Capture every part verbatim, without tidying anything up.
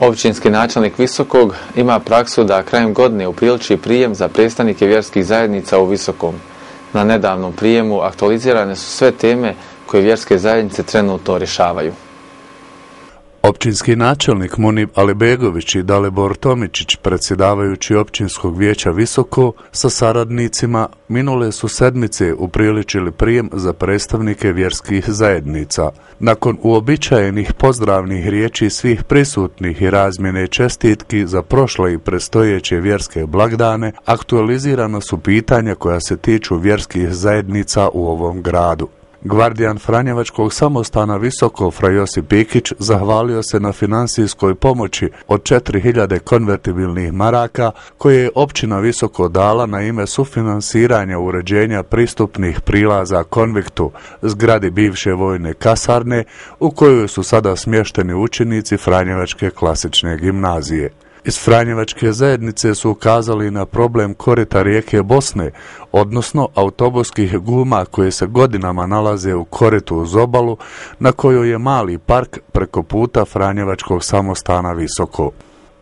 Općinski načelnik Visokog ima praksu da krajem godine upriliči prijem za predstavnike vjerskih zajednica u Visokom. Na nedavnom prijemu aktualizirane su sve teme koje vjerske zajednice trenutno rješavaju. Općinski načelnik Munib Alibegović i Dalibor Tomičić, predsjedavajući općinskog vijeća Visoko, sa saradnicima minule su sedmice upriličili prijem za predstavnike vjerskih zajednica. Nakon uobičajenih pozdravnih riječi svih prisutnih i razmjene čestitki za prošle i predstojeće vjerske blagdane, aktualizirana su pitanja koja se tiču vjerskih zajednica u ovom gradu. Gvardijan Franjevačkog samostana Visoko Fra Josip Pikić zahvalio se na finansijskoj pomoći od četiri hiljade konvertibilnih maraka koje je općina Visoko dala na ime sufinansiranja uređenja pristupnih prilaza konviktu, zgradi bivše vojne kasarne u kojoj su sada smješteni učenici Franjevačke klasične gimnazije. Iz Franjevačke zajednice su ukazali na problem korita rijeke Bosne, odnosno autobuskih guma koje se godinama nalaze u koritu uz obalu, na kojoj je mali park preko puta Franjevačkog samostana Visoko.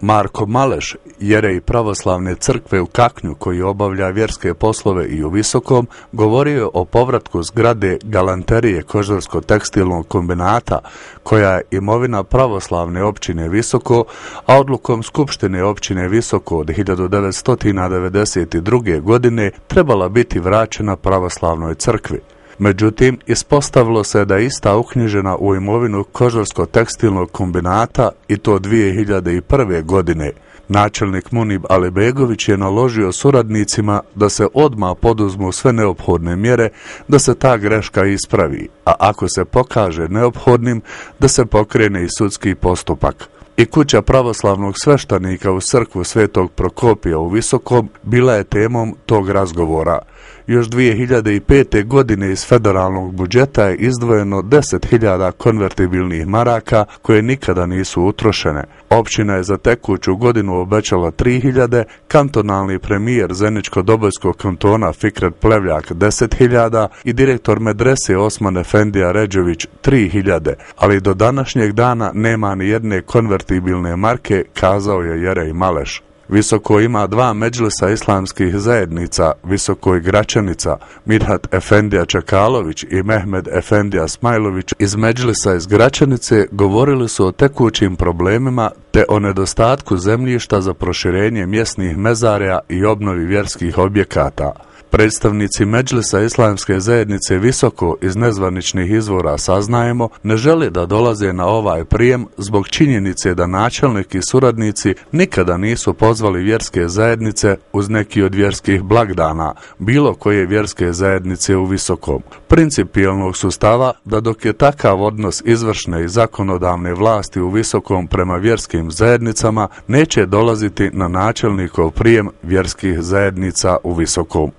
Marko Maleš, jerej pravoslavne crkve u Kaknju koji obavlja vjerske poslove i u Visokom, govorio o povratku zgrade galanterije kožarsko-tekstilnog kombinata, koja je imovina pravoslavne općine Visoko, a odlukom Skupštine općine Visoko od hiljadu devetsto devedeset druge. godine trebala biti vraćena pravoslavnoj crkvi. Međutim, ispostavilo se da je ista uknjižena u imovinu kožarsko-tekstilnog kombinata i to dvije hiljade prve. godine. Načelnik Munib Alibegović je naložio suradnicima da se odmah poduzmu sve neophodne mjere da se ta greška ispravi, a ako se pokaže neophodnim da se pokrene i sudski postupak. I kuća pravoslavnog sveštenika u crkvu Svetog Prokopija u Visokom bila je temom tog razgovora. Još dvije hiljade pete. godine iz federalnog budžeta je izdvojeno deset hiljada konvertibilnih maraka koje nikada nisu utrošene. Općina je za tekuću godinu obećala tri hiljade, kantonalni premijer Zeničko-Dobojskog kantona Fikret Plevljak deset hiljada i direktor medrese Osman Efendija Ređević tri hiljade, ali do današnjeg dana nema ni jedne konvertibilne marke, kazao je Jerej Maleš. Visoko ima dva medžlisa islamskih zajednica, Visoko i Gračanica. Mirhat Efendija Čekalović i Mehmed Efendija Smajlović iz medžlisa iz Gračanice govorili su o tekućim problemima te o nedostatku zemljišta za proširenje mjesnih mezarja i obnovi vjerskih objekata. Predstavnici medžlisa islamske zajednice Visoko iz nezvaničnih izvora saznajemo ne žele da dolaze na ovaj prijem zbog činjenice da načelnik i suradnici nikada nisu pozvali vjerske zajednice uz neki od vjerskih blagdana, bilo koje vjerske zajednice u Visokom. Principijelnog su stava da dok je takav odnos izvršne i zakonodavne vlasti u Visokom prema vjerskim zajednicama, neće dolaziti na načelnikov prijem vjerskih zajednica u Visokom.